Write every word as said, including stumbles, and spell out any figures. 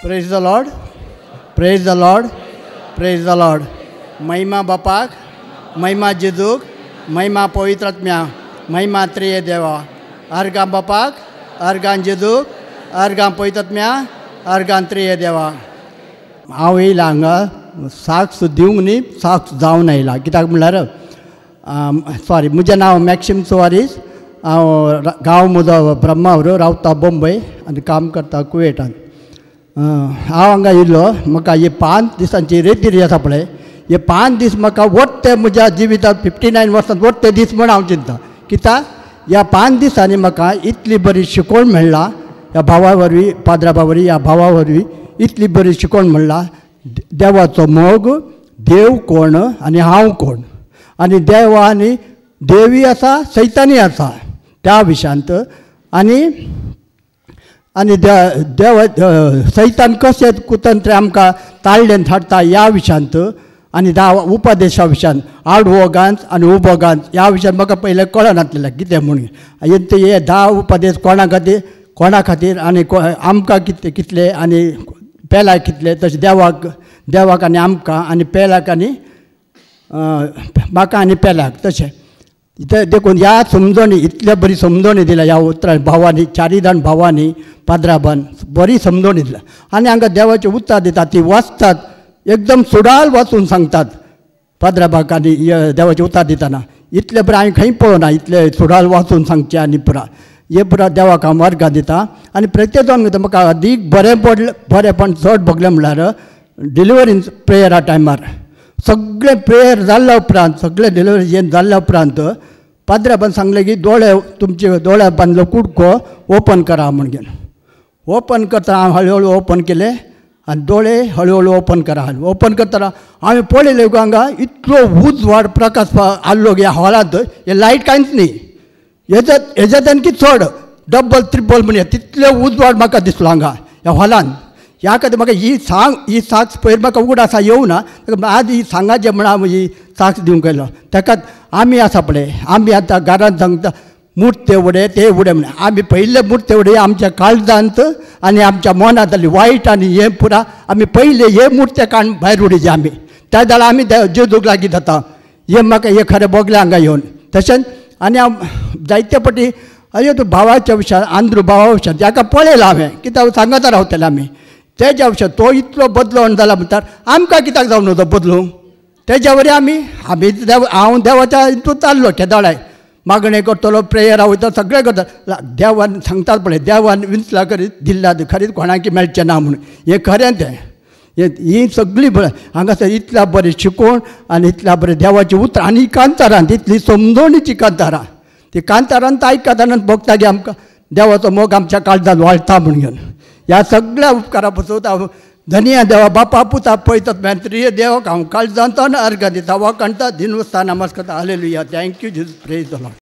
Praise the Lord, praise the Lord, praise the Lord. महिमा बापाक, महिमा जेजूक, महिमा पवित्र आत्म्या, महिमा त्रिये देवा. अर्गां बापाक, अर्गां जेजूक, अर्गां पवित्र आत्म्या, अर्गां त्रिये देवा. हांव येयला हांगा साक्ष दिवंक न्ही, साक्ष जावन आयला. कित्याक म्हणल्यार सॉरी, म्हजें नांव मॅक्सिम सुवारीस. हांव गांव म्हजो ब्रह्मावर, रावता बॉम्बे आनी काम करता कुवेटान. हांव हांगा येयल्लो, म्हाका ही पांच दिसांची रेतीर आसा पळय, हे पांच दीस म्हाका वट्टे म्हज्या जिवितांत फिफ्टी नायन वर्सांत वट्टे दीस म्हूण हांव चिंता. कित्याक ह्या पांच दिसांनी म्हाका इतली बरी शिकवण मेळ्ळा ह्या भावा वरवीं, पाद्राबा वरवीं, ह्या भावा वरवीं इतली बरी शिकवण मेळ्ळा. देवाचो मोग, देव कोण आनी हांव कोण, आनी देव आनी देवी आसा, सैतानी आसा त्या विशयांत. आनी आनी देव सैतान कशें कुतंत्र आमकां ताळ्ळेन हाडटा ह्या विशयांत, आनी धा उपदेशा विशयान, आडवो गांच आनी उबो गांच ह्या विशयान म्हाका पयलें कळनासलें कितें म्हणून. हे धा उपदेश कोणा खातीर, कोणा खातीर आनी आमकां कितले कितले आनी पेलाक कितले, तशें देवाक देवाक आनी आमकां आनी पेलाक आनी म्हाका आनी पेलाक तशें. देखून ह्या समजणी इतले बरी समजणी दिल्या ह्या उतरां भावांनी, चारी जाण भावांनी पाद्राबान बरी समजणी दिल्या. आनी हांगा देवाचें उतर दितात, ती वाचतात एकदम सुडाल वाचून सांगतात पाद्राबाक आनी देवाचें उतर दितना. इतलें बरें हांवें खंय पळोवना, इतलें सुडाल वाचून सांगचें आनी पुरा हे पुरा देवाक हांव वर्गां दिता. आनी प्रत्येक जावन म्हाका अदीक बरें पडलें, बरेंपण चड भोगलें म्हणल्यार डिलिवरी प्रेयरा टायमार सगळें प्रेयर जाल्ल्या उपरांत, सगळें डिलिवरी हें जाल्ल्या उपरांत पाद्राबान सांगलें की दोळे तुमचे दोळ्या बांदलो कुडको ओपन करा म्हणून. ओपन करता हांव हळू हळू ओपन केलें आनी दोळे हळू हळू ओपन करा. ओपन करतना हांवें पळयलें हांगा इतलो उजवाड प्रकाश आसलो ह्या हॉलांत, हे लायट कांयच न्ही, हेज्या हेज्याच्यान की चड डबल त्रिपल म्हणया तितले उजवाड म्हाका दिसलो हांगा ह्या हॉलान. ह्या खातीर म्हाका ही सांग ही साक्ष पयर म्हाका उगड आसा येवना, आज ही सांगाचें म्हण हांव ही साक्ष दिवंक येयलो. ताका आमी आसा पळय, आमी आतां घरांत सांगता मूर्ते उडे ते उडे म्हण, आमी पयले मूर्ते उडे आमच्या काळजांत आनी आमच्या मनांत जाली वायट आनी हें पुरा आमी पयले हे मूर्ते काडून भायर उडयचे आमी, त्या जाल्यार आमी जेजूक लागीं जाता. हें म्हाका हें खरें भोगलें हांगा येवन. तशेंच आनी हांव जायते पटी अयो तूं भावाच्या विशयान, आंद्रू भावा विशयान ताका पळयलां हांवें, कित्याक सांगता रावतलें आमी तेज्या विशयान. तो इतलो बदलोन जाला म्हणटार आमकां कित्याक जावन वचो बदलूंक? तेज्या वरी आमी आमी देव हांव देवाच्या हितून चाललो केदोळाय, मागणें करतलो, प्रेयरा वयता, सगळें करता. देवान सांगतात पळय, देवान विंचला करीत दिल्ला खरीच कोणाकी मेळचें ना म्हणून, हें खरें तें. ही सगळी बरें हांगासर इतल्या बरें शिकोवन आनी इतल्या बरें देवाचें उतरां आनी कांतारां, तितली समजवणीची कांतारां, ती कांतारान आयकतना भोगता की आमकां देवाचो मोग आमच्या काळजांत वाळटा म्हूण घेवन. ह्या सगळ्या उपकारा पसून हांव धनिया देवा बापा पुता पळयतात मेत्रीय देवाक हांव काळजांत अर्घ दिता, वाकाणता दिनवस्ता नमस्कार. Hallelujah. Thank you Jesus. Praise the Lord.